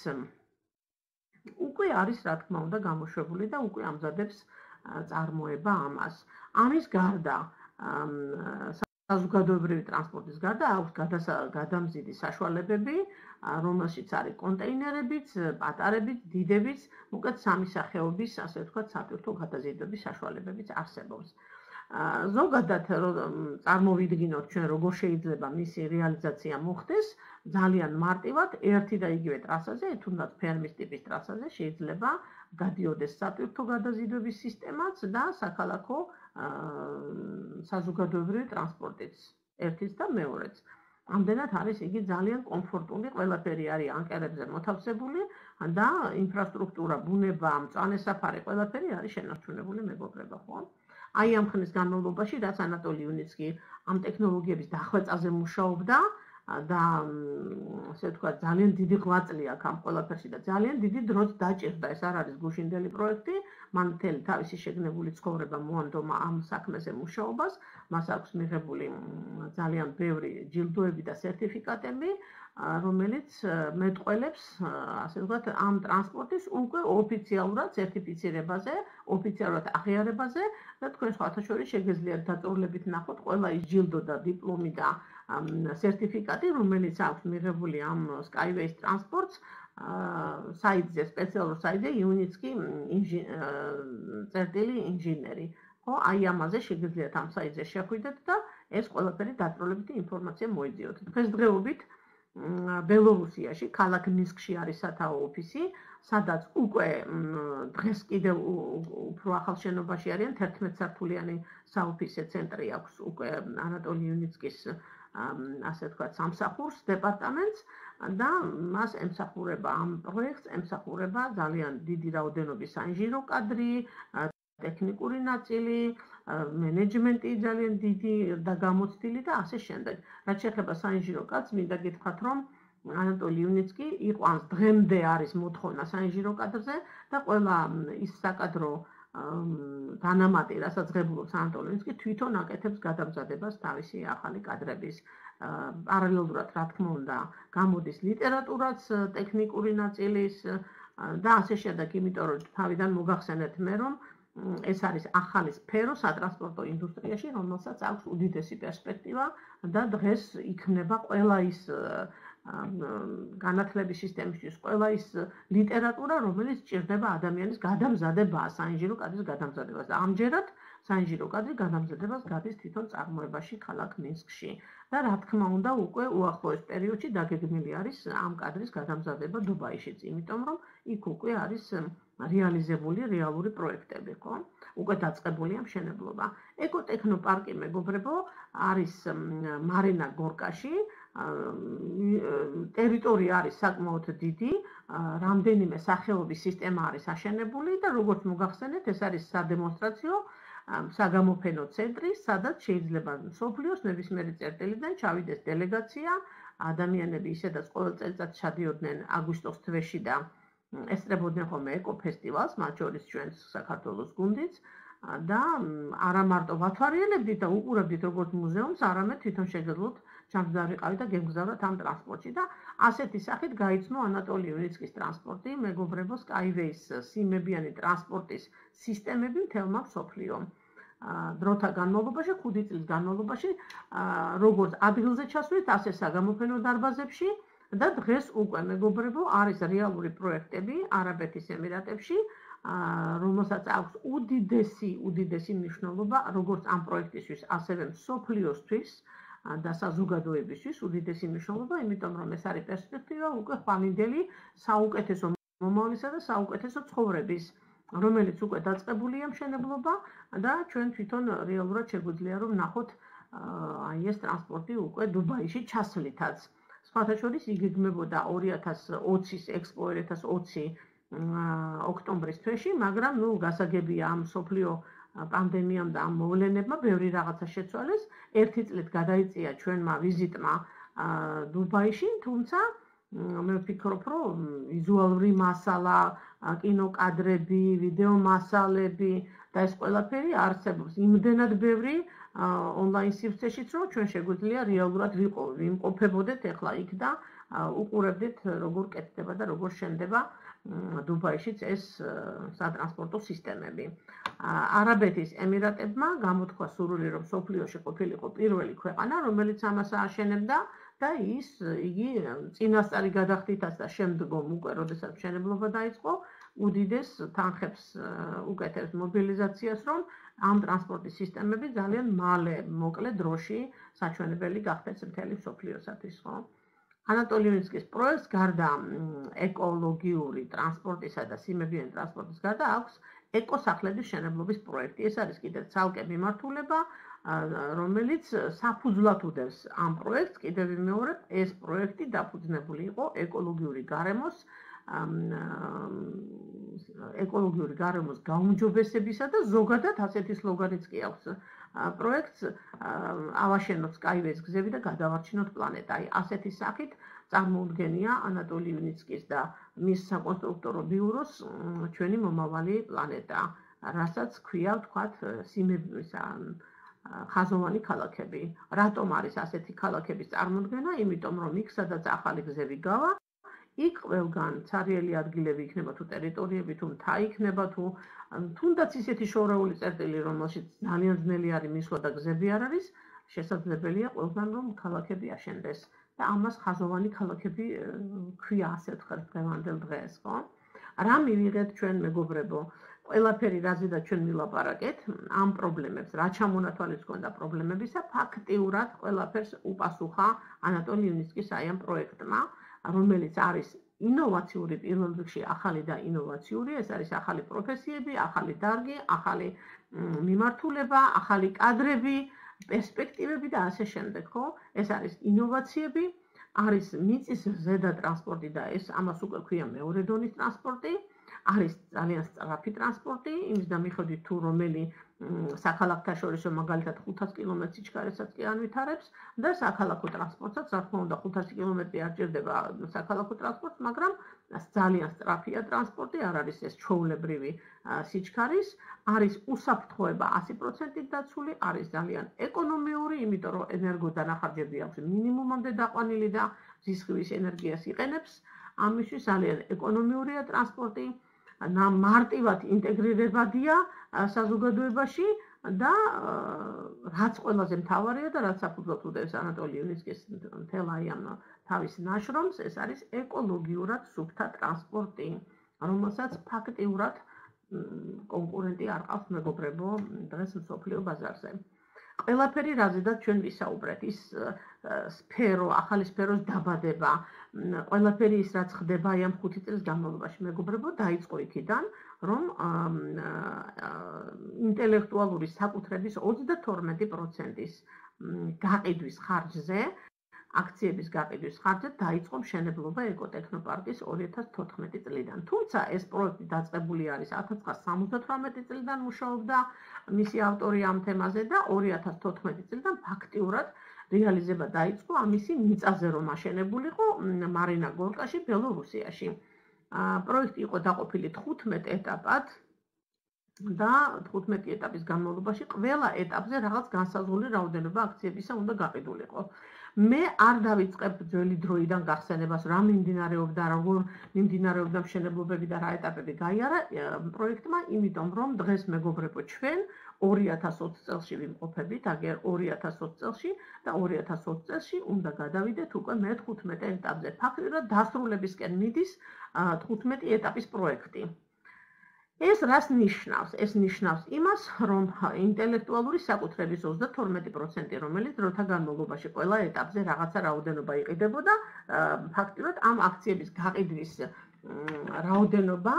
უკვე არის, რა თქმა უნდა, გამოშვებული და უკვე ამზადებს წარმოება ამას. ამის გარდა, საზოგადოებრივი ტრანსპორტის გარდა აქვს გადამზიდი საშუალებები, რომელშიც არის კონტეინერებიც, პატარებიც, დიდებიც, უკეთ სამი სახეობის, ასე ვთქვათ, სატვირთო გადაზიდვების საშუალებებიც არსებობს. ზოგადად წარმოვიდგინოთ ჩვენ როგორ შეიძლება მისი რეალიზაცია მოხდეს, ძალიან მარტივად ერთი და იგივე ტრასაზე, თუნდაც ფერმის ტიპის ტრასაზე შეიძლება გადიოდეს სატვირთო გადაზიდვების სისტემაც და საქალაქო საზოგადოებრივი ტრანსპორტიც, ერთიც და მეორეც. ამდენად არის იგი ძალიან კომფორტული, ყველაფერი არის ანკერებზე მოთავსებული და ინფრასტრუქტურა, ბუნება, მწვანე საფარი, ყველაფერი არის შენარჩუნებული, მეგობრებო, ხო? აი ამ ხნის განმავლობაში, რაც ანატოლი იუნიცკი ამ ტექნოლოგიების დახვეწაზე მუშაობდა, და ასე ვთქვათ, ძალიან დიდი ღვაწლი აქვს ამ ყველაფერში და ძალიან დიდი დროც დაჭირდა. ეს არ არის გუშინდელი პროექტი, მან მთელი თავისი შეგნებული ცხოვრება მოანდომა ამ საქმეზე მუშაობას, მას აქვს მიღებული ძალიან ბევრი ჯილდოები და სერტიფიკატები, რომელიც მეტყველებს, ასე ვთქვათ, ამ ტრანსპორტის უკვე ოფიციალურად სერტიფიცირებაზე, ოფიციალურად აღიარებაზე და თქვენ სხვათა შორის შეგეძლიათ დაწვრილებით ნახოთ ყველა ის ჯილდო და დიპლომი და სერტიფიკატი, რომელიც აქვს მიღებული ამ Skyways ტრანსპორტს საიტზე, სპეციალურ საიტზე Unitsky წერტილი ინჟინერი. ხო, აი ამაზე შეგეძლიათ ამ საიტზე შეხვიდეთ და ეს ყველაფერი დაწვრილებითი ინფორმაცია მოიძიოთ. დღესდღეობით ბელორუსიაში, ქალაქ მინსკში არის სათაო ოფისი, სადაც უკვე დღეს კიდევ უფრო ახალ შენობაში არიან 11 სართულიანი საოფისე ცენტრი აქვს უკვე ანატოლი იუნიცკის ასე ვთქვათ სამსახურს დეპარტამენტს და მას ემსახურება ამ პროექტს ემსახურება ძალიან დიდი რაოდენობის საინჟინრო კადრი, ტექნიკური ნაწილი, მენეჯმენტი ძალიან დიდი და გამოცდილი და ასე შემდეგ. რაც შეეხება საინჟინრო კადრს, მინდა გითხრათ, რომ ანატოლი იუნიცკი იყვანს დღემდე არის მოთხოვნა საინჟინრო კადრზე და ყველა ის საკადრო დანამატი, რასაც ღებულობს ანატოლი იუნიცკი, თვითონ აკეთებს გადამზადებას თავისი ახალი კადრების. პარალელურად, რა თქმა უნდა, გამოდის ლიტერატურაც ტექნიკური ნაწილის და ასე შემდეგ, იმიტომ რომ თავიდან მოგახსენეთ მე, რომ ეს არის ახალი სფერო სატრანსპორტო ინდუსტრიაში, რომელსაც აქვს უდიდესი პერსპექტივა და დღეს იქნება ყველა ის განათლების სისტემისთვის, ყველა ის ლიტერატურა, რომელიც სჭირდება ადამიანის გადამზადებაა, საინჟინრო კადრის გადამზადებას. და ამჯერად საინჟინრო კადრი გადამზადებას გადის თვითონ წარმოებაში ქალაქ მინსკში. და რა თქმა უნდა, უკვე უახლოეს პერიოდში დაგეგმილი არის ამ კადრის გადამზადება დუბაიშიც, იმიტომ რომ იქ უკვე არის რეალიზებული რეალური პროექტები, ხო? უკვე დაწყებულია მშენებლობა. ეკოტექნოპარკი, მეგობრებო, არის მარინა გორკაში, ტერიტორია არის საკმაოდ დიდი, რამდენიმე სახეობის სისტემა არის აშენებული და როგორც მოგახსენეთ, ეს არის სადემონსტრაციო საგამოფენო ცენტრი, სადაც შეიძლება მსოფლიოს ნებისმიერი წერტილიდან ჩავიდეს დელეგაცია, ადამიანები ისედაც ყოველ წელიწადს ჩადიოდნენ აგვისტოს თვეში და ესწრებოდნენ ხოლმე ეკოფესტივალს, მათ შორის ჩვენ საქართველოს გუნდიც და არა მარტო ვათვალიერებდით და უყურებდით როგორც მუზეუმს, არამედ თვითონ შეგეძლოთ ჩამგზავრიყავით და გემგზავროთ ამ ტრანსპორტში და ასეთი სახით გაიცნო ანატოლი იუნიცკის ტრანსპორტი, მეგობრებო, Skyways სიმებიანი ტრანსპორტის სისტემები მთელმა მსოფლიომ. დროთა განმავლობაში, 5 წლის განმავლობაში, როგორც ადგილზე ჩასვლით, ასე საგამოფენო დარბაზებში და დღეს უკვე, მეგობრებო, არის რეალური პროექტები არაბეთის ემირატებში, რომელსაც აქვს უდიდესი მნიშვნელობა, როგორც ამ პროექტისთვის, ასევე მსოფლიოსთვის და საზოგადოებისთვის უდიდესი მნიშვნელობა, იმიტომ რომ ეს არის პერსპექტივა უკვე ხვალინდელი საუკეთესო მომავლისა და საუკეთესო ცხოვრების, რომელიც უკვე დაწყებულია მშენებლობა და ჩვენ თვითონ რეალურად შეგვიძლია რომ ნახოთ აი ეს ტრანსპორტი უკვე დუბაიში ჩასვლითაც. სხვათა შორის იგეგმებოდა 2020-ის ექსპო 2020 ოქტომბრის თვეში, მაგრამ ნუ გასაგებია ამ მსოფლიო პანდემიამ და ამ მოვლენებმა ბევრი რაღაცა შეცვალეს. ერთი წლით გადაიწია ჩვენმა ვიზიტმა დუბაიში, თუმცა მე ვფიქრობ, რომ ვიზუალური მასალა, კინოკადრები, ვიდეო მასალები და ეს ყველაფერი არსებობს იმდენად ბევრი ონლაინ სივრცეშიც, რომ ჩვენ შეგვიძლია რეალურად ვიმყოფებოდეთ ახლა იქ და უყურებდით როგორ კეთდება და როგორ შენდება დუბაიშიც ეს სატრანსპორტო სისტემები. არაბეთის ემირატებმა გამოთქვა სურვილი, რომ მსოფლიოში ყოფილიყო პირველი ქვეყანა, რომელიც ამას ააშენებდა და იგი წინასწარი გადახდითაც და შემდგომ უკვე, როდესაც მშენებლობა დაიწყო, უდიდეს თანხებს უკეთებს მობილიზაციას, რომ ამ ტრანსპორტის სისტემები ძალიან მალე, მოკლე დროში საჩვენებელი გახდეს მთელი მსოფლიოსათვის, ხო? ანატოლი იუნიცკის პროექტს გარდა ეკოლოგიური ტრანსპორტისა და სიმებიანი ტრანსპორტის გარდა აქვს ეკოსახლების მშენებლობის პროექტი. ეს არის კიდევ ცალკე მიმართულება, რომელიც საფუძვლად უდევს ამ პროექტს. კიდევ ვიმეორებ, ეს პროექტი დაფუძნებული იყო ეკოლოგიური გარემოს გაუმჯობესებისა და ზოგადად ასეთი სლოგანიც კი აქვს პროექტს ავაშენოთ Skyway-ს გზები და გადავარჩინოთ პლანეტა. აი, ასეთი სახით წარმოუდგენია ანატოლი ივნიცკის და მის საკონსტრუქტორო ბიუროს ჩვენი მომავალი პლანეტა, რასაც ქვია, ვთქვათ, ხაზოვანი ქალაქები. რატომ არის ასეთი ქალაქების წარმოდგენა? იმიტომ რომ იქ, სადაც ახალი გზები გავა, იქ ყველგან ცარიელი ადგილები იქნება თუ ტერიტორიები თუ მთა იქნება თუ თუნდაც ისეთი შორეული წერტილი, რომელშიც ძალიან ძნელი არის მისვლა და გზები არ არის, შესაძლებელია ყველგან რომ ქალაქები აშენდეს და ამას ხაზოვანი ქალაქები ქვია, ასე ვთქვათ, დღევანდელ დღეს, ხო? რა მივიღეთ ჩვენ მეგობრებო? ყველაფერი რაზედაც ჩვენ ვილაპარაკეთ, ამ პრობლემებს, რა ჩამონათვალის ჰქონდა პრობლემებისა, ფაქტიურად ყველაფერს უპასუხა ანატოლი ივნიცკის აი ამ პროექტმა, რომელიც არის ინოვაციური პირველ რიგში ახალი და ინოვაციური, ეს არის ახალი პროფესიები, ახალი დარგი, ახალი მიმართულება, ახალი კადრები, პერსპექტივები და ასე შემდეგ, ხო? ეს არის ინოვაციები, არის მიწის ზედა ტრანსპორტი და ეს ამას უკვე ქვია მეორე დონის ტრანსპორტი, არის ძალიან სწრაფი ტრანსპორტი, იმის და მიხედვით თუ რომელი საქალაქთა შორის მაგალითად 500 კილომეტრ სიჩქარესაც კი ანვითარებს და საქალაქო ტრანსპორტსაც, რა თქმა უნდა 500 კილომეტრი არ ჭირდება საქალაქო ტრანსპორტს, მაგრამ ძალიან სწრაფია ტრანსპორტი, არ არის ეს ჩვეულებრივი სიჩქარის, არის უსაფრთხოება 100%-ით დაცული, არის ძალიან ეკონომიური, იმიტომ რომ ენერგოდანახარჯები აქვს მინიმუმამდე დაყვანილი და ზისხილის ენერგიას იყენებს, ამისთვის ძალიან ეკონომიურია ტრანსპორტი. მარტივად ინტეგრირებადია საზოგადოებაში და რაც ყველაზე მთავარია და რაც საფუძვლად უდევს ანატოლი ივნიცკის მთელ აი ამ თავის ნაშრომს, ეს არის ეკოლოგიურად სუფთა ტრანსპორტი, რომელსაც ფაქტიურად კონკურენტი არ ყავს მეგობრებო დღეს მსოფლიო ბაზარზე. ყველაფერი რაზედაც ჩვენ ვისაუბრეთ, ის სფერო, ახალი სფეროს დაბადება, ყველაფერი ის რაც ხდება აი ამ 5 წლის განმავლობაში, მეგობრებო, დაიწყო იქიდან, რომ ინტელექტუალური საკუთრების 32%-ის გაყიდვის ხარჯზე, აქციების გაყიდვის ხარჯზე დაიწყო მშენებლობა ეკოტექნოპარკის 2014 წლიდან. თუმცა ეს პროექტი დაწყებული არის 1978 წლიდან მუშაობდა მისი ავტორი ამ თემაზე და 2014 წლიდან ფაქტიურად რეალიზება დაიწყო ამისი მიწაზე რომ აშენებულიყო მარინა გორკაში, ბელორუსიაში. პროექტი იყო დაყოფილი 15 ეტაპად და 15 ეტაპის განმავლობაში ყველა ეტაპზე რაღაც განსაზღვრული რაოდენობა აქციებისა უნდა გაყიდულიყო. მე არ დავიწყებ ძველი დროიდან გახსენებას, რა მიმდინარეობდა, როგორ მიმდინარეობდა მშენებლობები და რა ეტაპები გაიარა პროექტმა, იმიტომ რომ დღეს მეგობრებო ჩვენ 2020 წელში ვიმყოფებით, აგერ 2020 წელში და 2020 წელში უნდა გადავიდეთ უკვე მე-15 ეტაპზე. ფაქტიურად დასრულებისკენ მიდის 15 ეტაპის პროექტი. ეს რას ნიშნავს? ეს ნიშნავს იმას, რომ ინტელექტუალური საკუთრების 32%, რომელიც დროთა განმავლობაში ყველა ეტაპზე რაღაცა რაოდენობა იყიდებოდა, ფაქტიურად ამ აქციების გაყიდვის რაოდენობა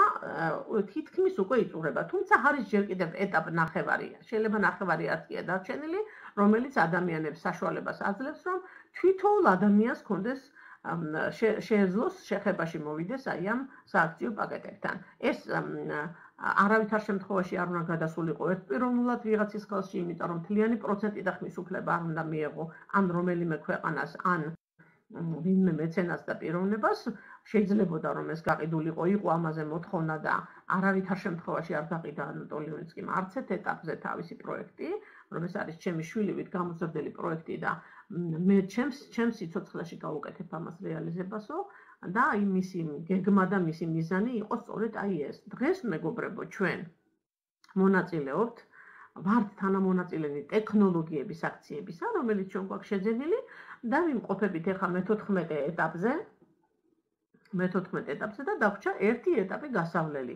თითქმის უკვე იწურება. თუმცა არის ჯერ კიდევ ეტაპ ნახევარი. შეიძლება ნახევარი არცია დარჩენილი, რომელიც ადამიანებს საშუალებას აძლევს, რომ თვითოულ ადამიანს კონდეს შეეძლოს შეხებაში მოვიდეს აი ამ სააქციო პაკეტებთან. ეს არავითარ შემთხვევაში არ უნდა გადასულიყო ერთპიროვნულად ვიღაცის ხელში, იმიტომ რომ მთლიანი პროცენტი და ხმის უფლება არ უნდა მიეღო ან რომელიმე ქვეყანას, ან ვინმე მეცენას და პიროვნებას, შეიძლებოდა რომ ეს გაყიდულიყო, იყო ამაზე მოთხოვნა და არავითარ შემთხვევაში არ გაყიდა ანატოლი ივნიცკიმ არც ერთ ეტაპზე თავისი პროექტი, რომ ეს არის ჩემი შვილივით გამოზრდელი პროექტი და მე ჩემს სიცოცხლეში გავუკეთებ ამას რეალიზებასო და აი მისი გეგმა და მისი მიზანი იყო სწორედ აი ეს. დღეს მეგობრებო ჩვენ მონაწილეობთ ვართ თანამონაწილენი ტექნოლოგიების აქციებისა, რომელიც ჩვენ გვაქვს შეძენილი და ვიმყოფებით ახლა მე-14 ეტაპზე და დაგვჭა ერთი ეტაპი გასავლელი.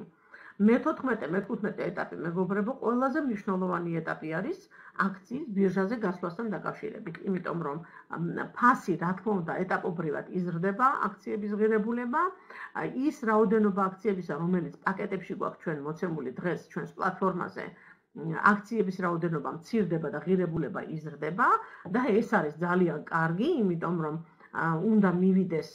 მე-14, მე-15 ეტაპი მეგობრებო ყველაზე მნიშვნელოვანი ეტაპი არის აქციის ბირჟაზე გასვლასთან დაკავშირებით, იმიტომ რომ ფასი რა თქმა უნდა ეტაპობრივად იზრდება აქციების ღირებულება, ის რაოდენობა აქციებისა, რომელიც პაკეტებში გვაქვს ჩვენ მოცემული დღეს ჩვენს პლატფორმაზე, აქციების რაოდენობა მცირდება და ღირებულება იზრდება და ეს არის ძალიან კარგი, იმიტომ რომ უნდა მივიდეს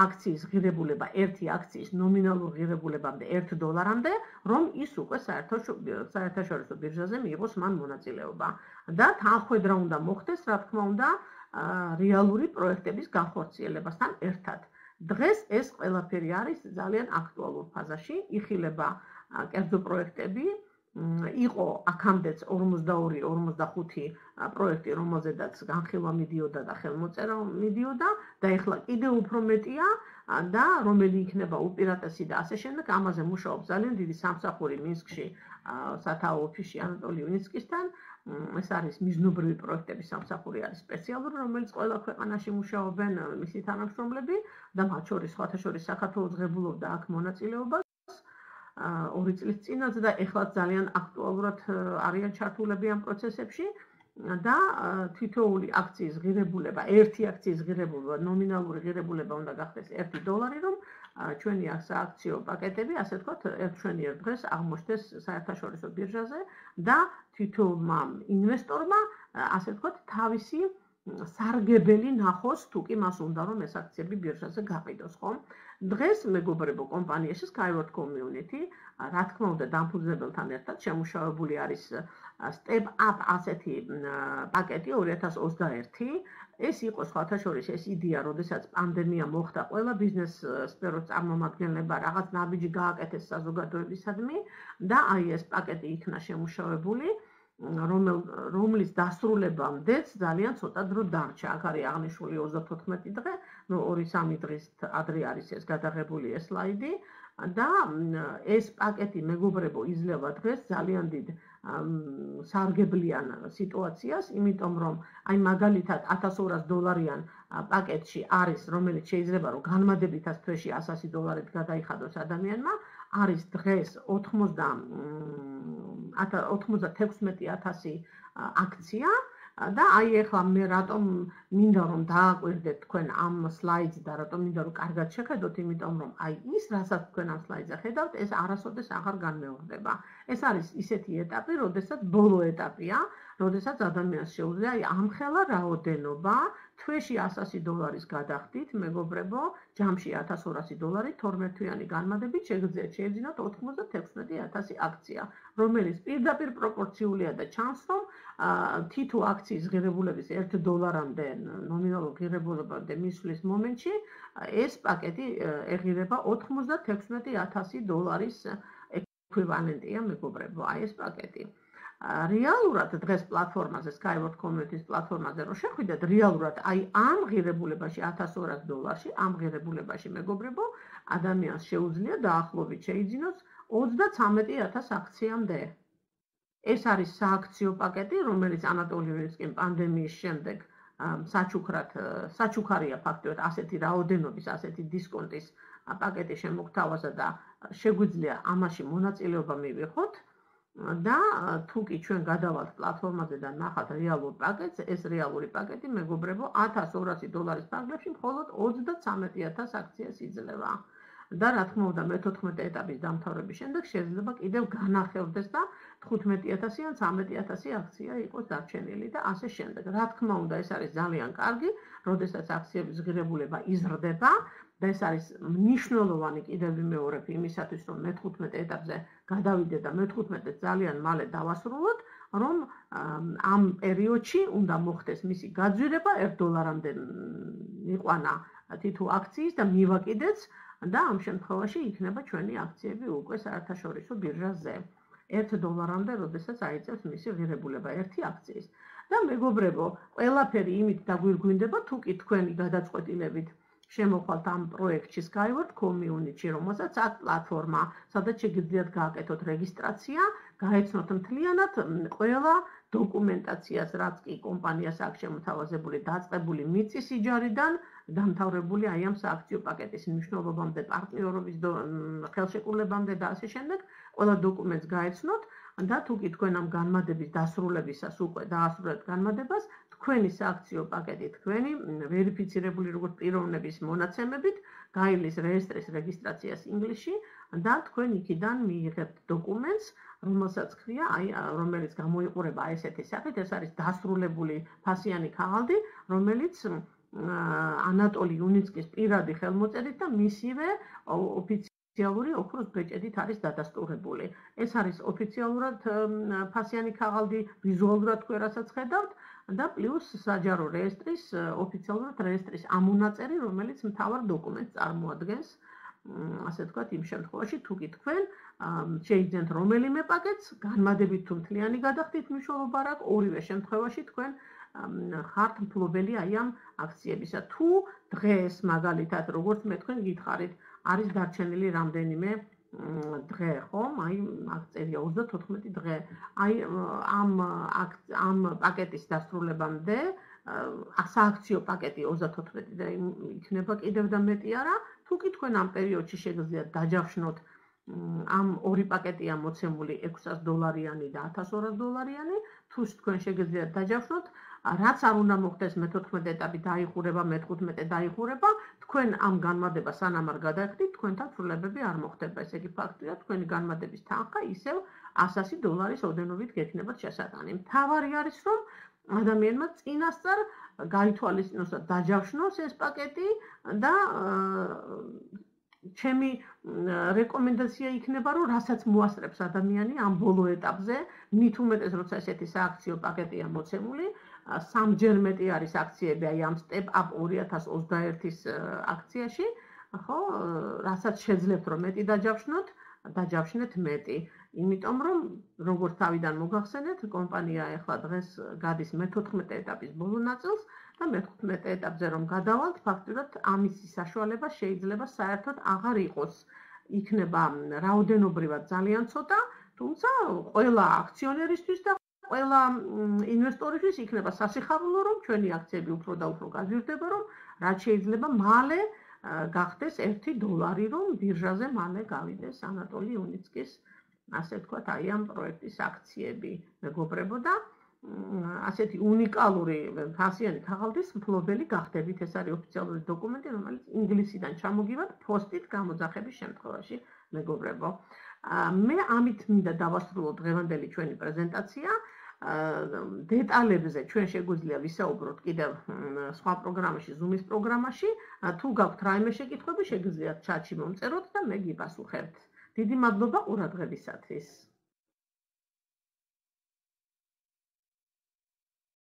აქციის ღირებულება ერთი აქციის ნომინალურ ღირებულებამდე $1-მდე, რომ ის უკვე საერთაშორისო ბირჟაზე მიიღოს მან მონაწილეობა. და თანხმედრა უნდა მოხდეს, რა თქმა უნდა, რეალური პროექტების განხორციელებასთან ერთად. დღეს ეს ყველაფერი არის ძალიან აქტუალურ ფაზაში, იხილება კერძო პროექტები, იყო აქამდეც 42-45 პროექტი, რომელზედაც განხილვა მიდიოდა და ხელმოწერა მიდიოდა და ეხლა კიდევ უფრო მეტია და რომელი იქნება უპირატესი და ასე შემდეგ, ამაზე მუშაობს ძალიან დიდი სამსახური მინსკში სათაო ოფისში ანატოლი ვინიცკისთან. ეს არის მიზნობრივი პროექტების სამსახური არის სპეციალური, რომელიც ყველა ქვეყანაში მუშაობენ მისი თანამშრომლები და მათ შორის სხვათა შორის საქართველოს ღებულობდა აქ მონაწილეობას 2 წლის წინაც და ეხლა ძალიან აქტუალურად არიან ჩართულები ამ პროცესებში და თითოეული აქციის ღირებულება, ერთი აქციის ღირებულება, ნომინალური ღირებულება უნდა გახდეს $1, რომ ჩვენი სააქციო პაკეტები, ასე ვთქვათ, ერთშვენიერ დღეს აღმოჩნდეს საერთაშორისო ბირჟაზე და თითოეულმა ინვესტორმა, ასე ვთქვათ, თავისი სარგებელი ნახოს, თუ კი მას უნდა რომ ეს აქციები ბირჟაზე გაყიდოს, ხო? დღეს მეგობრებო კომპანიაში Skyward Community, რა თქმა უნდა, დამფუძნებელთან ერთად შემუშავებული არის Step Up ასეთი პაკეტი 2021. ეს იყო სხვათა შორის ეს იდეა, როდესაც პანდემია მოხდა, ყველა ბიზნეს სფეროს წარმომადგენლებმა რაღაც ნაბიჯი გააკეთეს საზოგადოებისადმი და აი ეს პაკეტი იქნა შემუშავებული, რომლის დასრულებამდეც ძალიან ცოტა დრო დარჩა. აქ არის აღნიშნული 34 დღე, 2-3 დღის ადრე არის ეს გადაღებული ეს სლაიდი და ეს პაკეტი მეგობრებო იძლევა დღეს ძალიან დიდ სარგებლიან სიტუაციას, იმიტომ რომ აი მაგალითად $1200 პაკეტში არის, რომელიც შეიძლება რომ განმადებითად თვეში $100 გადაიხადოს ადამიანმა, არის დღეს 96,000 აქცია და აი ეხლა მე რატომ მინდა რომ დააკვირდეთ თქვენ ამ სლაიდს და რატომ მინდა რომ კარგად შეხედოთ, იმიტომ რომ აი ის, რასაც თქვენ ამ სლაიდზე ხედავთ, ეს არასოდეს აღარ განმეორდება. ეს არის ისეთი ეტაპი, როდესაც ბოლო ეტაპია, როდესაც ადამიანს შეუძლია აი ამხელა რაოდენობა თვეში $100 გადახდით, მეგობრებო, ჯამში $1200, 12-თვიანი განმადებით შეეძინოთ 96,000 აქცია, რომელიც პირდაპირ პროპორციულია და ჩანს, რომ თითო აქციის ღირებულების $1-მდე ნომინალურ ღირებულებამდე მისვლის მომენტში ეს პაკეტი ეღირება $96,000 ექვივალენტია, მეგობრებო, აი ეს პაკეტი. რეალურად დღეს პლატფორმაზე, Skyward Community-ის პლატფორმაზე რო შეხვიდეთ, რეალურად აი ამ ღირებულებაში $1200, ამ ღირებულებაში მეგობრებო, ადამიანს შეუძლია დაახლოებით შეიძინოს 33,000 აქციამდე. ეს არის სააქციო პაკეტი, რომელიც ანატოლი ვინიცკიმ პანდემიის შემდეგ საჩუქარია ფაქტობრივად ასეთი რაოდენობის, ასეთი დისკონტის პაკეტი შემოგთავაზა და შეგვიძლია ამაში მონაწილეობა მივიღოთ. და თუ კი ჩვენ გადავალთ პლატფორმაზე და ნახავთ რეალურ პაკეტს, ეს რეალური პაკეტი მეგობრებო $1200 ფარგლებში მხოლოდ 33,000 აქციას იძლევა. და რა თქმა უნდა მე-14 ეტაპის დამთავრების შემდეგ შეიძლება კიდევ განახევდეს და 15,000 ან 13,000 აქცია იყოს დარჩენილი და ასე შემდეგ. რა თქმა უნდა ეს არის ძალიან კარგი, როდესაც აქციების ღირებულება იზრდება და ეს არის მნიშვნელოვანი კიდევ ვიმეორებ იმისათვის, რომ მე-15 ეტაპზე გადავიდეთ და მე-15-ე ძალიან მალე დავასრულოთ, რომ ამ პერიოდში უნდა მოხდეს მისი გაძვირება $1-მდე მიყვანა თითო აქციის და მივაკიდეც და ამ შემთხვევაში იქნება ჩვენი აქციები უკვე საერთაშორისო ბირჟაზე. $1-მდე, როდესაც აიწევს მისი ღირებულება ერთი აქციის. და მეგობრებო, ყველაფერი იმით დაგვირგვინდება, თუ კი თქვენი გადაწყვეტილებით შემოხვალთ ამ პროექტში Skyward Community, რომელსაც აქვს პლატფორმა, სადაც შეგიძლიათ გააკეთოთ რეგისტრაცია, გაეცნოთ მთლიანად ყველა დოკუმენტაციას, რაც კი კომპანიას აქვს შემოთავაზებული, დაწყებული მიწის იჯარიდან, დამთავრებული აი ამ სააქციო პაკეტის მნიშვნელობამდე, პარტნიორობის ხელშეკრულებამდე და ასე შემდეგ, ყველა დოკუმენტს გაეცნოთ და თუ კი თქვენ ამ განმადების დასრულებისას უკვე დაასრულეთ განმადებას, თქვენი სააქციო პაკეტი, თქვენი ვერიფიცირებული როგორც პიროვნების მონაცემებით, გაივლის რეესტრის რეგისტრაციას ინგლისში და თქვენ იქიდან მიიღებთ დოკუმენტს, რომელსაც ქვია, რომელიც გამოიყურება ესეთი სახით, ეს არის დასრულებული ფასიანი ქაღალდი, რომელიც ანატოლი იუნიცკის პირადი ხელმოწერით და მისივე ოფიციალური ოქროს ბეჭედით არის დადასტურებული. ეს არის ოფიციალურად ფასიანი ქაღალდი, ვიზუალურად თქვენ რასაც ხედავთ და პლუს საჯარო რეესტრის ოფიციალურად რეესტრის ამონაწერი, რომელიც მთავარ დოკუმენტს წარმოადგენს. ასე ვთქვათ, იმ შემთხვევაში თუ კი თქვენ შეიძენთ რომელიმე პაკეტს, განმადებით თუ მთლიანი გადახდით მნიშვნელობა რა, ორივე შემთხვევაში თქვენ ხართ მფლობელი აი ამ აქციებისა. თუ დღეს მაგალითად, როგორც მე თქვენ გითხარით, არის დარჩენილი რამდენიმე დღე, ხომ? აი აქცია 34 დღე. აი ამ პაკეტის დასრულებამდე სააქციო პაკეტი 34 დღე იქნება კიდევ და მეტი არა. თუ კი თქვენ ამ პერიოდში შეგიძლიათ დაჯავშნოთ ამ ორი პაკეტია მოცემული $600 და $1200, თუ თქვენ შეგიძლიათ დაჯავშნოთ, რაც არ უნდა მოხდეს მე-14 ეტაპი დაიხურება, მე-15 დაიხურება, თქვენ ამ განმადებას სანამ არ გადაიხდით, თქვენთან ცვლილებები არ მოხდება. ესე იგი ფაქტია, თქვენი განმადების თანხა ისევ $100 ოდენობით გექნებათ შესატანი. მთავარი არის, რომ ადამიანმა წინასწარ გაითვალისწინოს და დაჯავშნოს ეს პაკეტი და ჩემი რეკომენდაცია იქნება, რომ რასაც მოასწრებს ადამიანი ამ ბოლო ეტაპზე, მით უმეტეს როცა ესეთი სააქციო პაკეტია მოცემული, სამჯერ მეტი არის აქციები აი ამ Step Up 2021-ის აქციაში, ხო, რასაც შეძლებთ რომ მეტი დაჯავშნოთ, დაჯავშნეთ მეტი. იმიტომ რომ როგორც თავიდან მოგახსენეთ, კომპანია ახლა დღეს გადის მე-14 ეტაპის ბოლო ნაწილს და მე-15 ეტაპზე რომ გადავალთ, ფაქტურად ამისი საშუალება შეიძლება საერთოდ აღარ იყოს. იქნება რაოდენობრივად ძალიან ცოტა, თუმცა ყველა აქციონერისთვის და ყველა ინვესტორისთვის იქნება სასიხარულო, რომ ჩვენი აქციები უფრო და უფრო გაზრდება, რომ რაც შეიძლება მალე გახდეს $1, რომ ბირჟაზე მალე გავიდეს ანატოლი იუნიცკის, ასე ვთქვათ, აი ამ პროექტის აქციები. მეგობრებო და ასეთი უნიკალური ფასიანი ქაღალდის მფლობელი გახდებით. ეს არის ოფიციალური დოკუმენტი, რომელიც ინგლისიდან ჩამოგივათ პოსტით გამოძახების შემთხვევაში, მეგობრებო. მე ამით მინდა დავასრულო დღევანდელი ჩვენი პრეზენტაცია. დეტალებზე ჩვენ შეგვიძლია ვისაუბროთ კიდევ სხვა პროგრამაში, Zoom-ის პროგრამაში. თუ გაქვთ რაიმე შეკითხვები, შეგიძლიათ ჩატში მომწეროთ და მე გიპასუხებთ. დიდი მადლობა ყურადღებისათვის.